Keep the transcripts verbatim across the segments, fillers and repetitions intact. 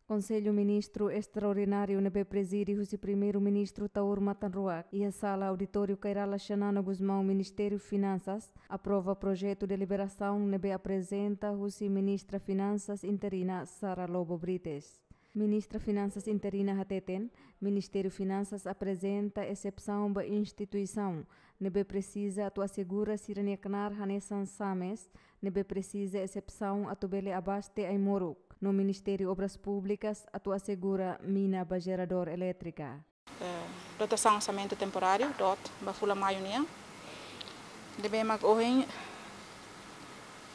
Konsellu Ministru Estraordináriu ne'ebé prezide husi Primeiru-Ministru Taur Matan Ruak, iha sala auditóriu Kay Rala Xanana Gusmão, Ministériu Finansas, aprova projetu deliberasaun ne'ebé aprezenta husi Ministra Finansas interina Sara Lobo Brites. Ministra Finansas interina hateten, Ministériu Finansas aprezenta esepsaun ba instituisaun ne'ebé presiza atu asegura sira-nia knaar hanesan SAMES, ne'ebé presiza esepsaun atu bele abaste ai-moruk, no Ministériu Obras Públikas atu asegura mina ba jeradór elétrika. Eh, dotasaun orsamentu temporáriu, DOT, ba fulan Maiu nian. Ne'ebé mak ohin,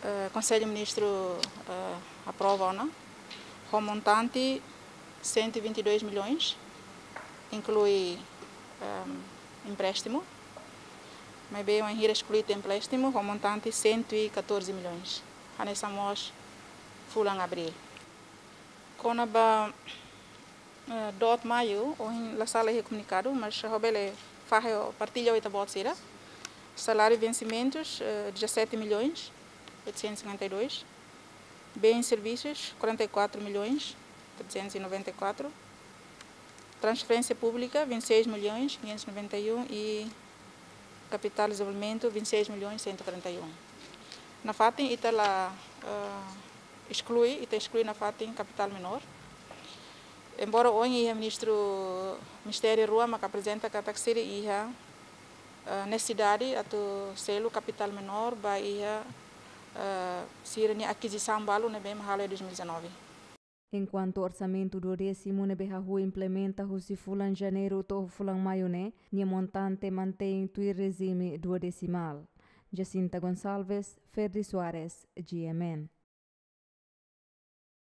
eh, Konsellu Ministru, eh, aprova ona, ho montante cento e vinte e dois milhões, inklui, ehm, empréstimu, maibé wainhira esklui tiha empréstimu, ho montante cento e catorze milhões, hanesan mós fulan Abríl. Kona-ba, eh, DOT Maiu, ohin la sala iha komunikadu, mas ha'u bele fahe ho partilla ho ita-boot sira. Saláriu vensimentus, eh, dezassete milhões oitocentos e cinquenta e dois. Bens e serviços, quarenta e quatro milhões trezentos e noventa e quatro. Transferência pública, vinte e seis milhões quinhentos e noventa e um e capital desenvolvimento, vinte e seis milhões cento e quarenta e um. Nafatin ita la, eh, esklui, ita esklui nafatin kapitál menór. Embora ohin iha ministru, ministériu rua mak aprezenta katak sira iha, eh, nesesidade atu selu kapitál menór ba iha, eh, sira-nia akizisaun balu ne'ebé mak halo iha dois mil e dezanove. Enkuantu orsamentu duodésimu ne'ebé hahú implementa husi fulan Janeiru to'o fulan Maiu ne'e, nia montante mantein tuir rejime duodesimál. Jacinta Gonçalves, Ferdi Soares, G M N.